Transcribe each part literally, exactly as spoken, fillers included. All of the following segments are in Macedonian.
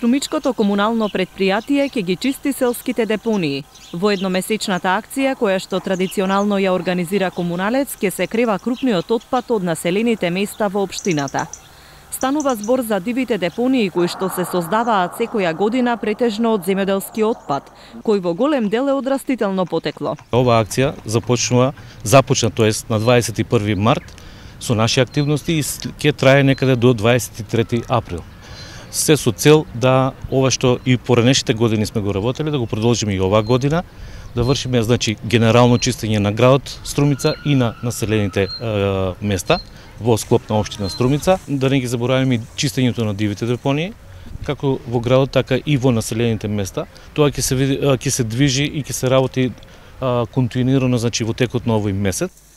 Струмичкото комунално предпријатие ќе ги чисти селските депонии. Во едномесечната акција, која што традиционално ја организира Комуналец, ќе се крива крупниот отпад од населените места во општината. Станува збор за дивите депонии кои што се создаваат секоја година претежно од земјоделски отпад, кој во голем дел е од растително потекло. Ова акција започнува, започна тоест на дваесет и први март со наши активности и ќе трае некаде до дваесет и трети април. Се со цел да ова што и поранешните години сме го работеле, да го продолжиме и оваа година, да вршиме значи генерално чистење на градот Струмица и на населените е, места во склоп на општина Струмица, да не ги забораваме и чистењето на дивите депонии, како во градот, така и во населените места. Тоа ќе се ќе се движи и ќе се работи а, континуирано, значи во текот на овој месец.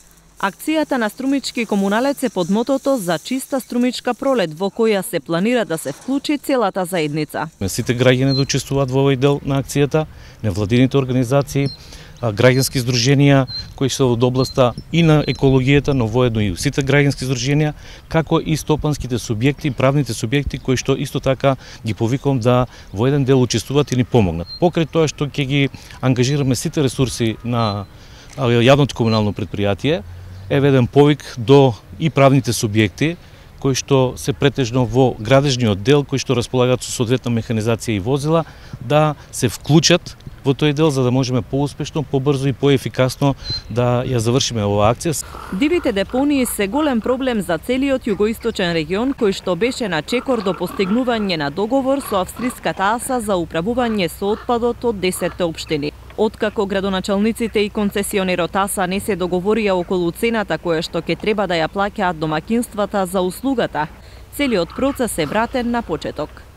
Акцијата на Струмички Комуналец е под мотото за чиста струмичка пролет, во која се планира да се вклучи целата заедница. Сите граѓани да учествуваат во овој дел на акцијата, невладините организации, граѓански здруженија кои се од областа и на екологијата, но воедно и сите граѓански здруженија, како и стопанските субјекти, правните субјекти кои што исто така ги повикувам да во еден дел учествуваат и ни помогнат. Покрај тоа што ќе ги ангажираме сите ресурси на јавното комунално предпријатие, е еден повик до и правните субјекти кои што се претежно во градежниот дел, кои што располагаат со соодветна механизација и возила, да се вклучат во тој дел за да можеме поуспешно, побрзо и поефикасно да ја завршиме оваа акција. Дивите депонии се голем проблем за целиот југоисточен регион кој што беше на чекор до постигнување на договор со австриската АСА за управување со отпадот од десетте општини. Откако градоначалниците и концесионерот АСА не се договорија околу цената која што ќе треба да ја плаќаат домаќинствата за услугата, целиот процес е вратен на почеток.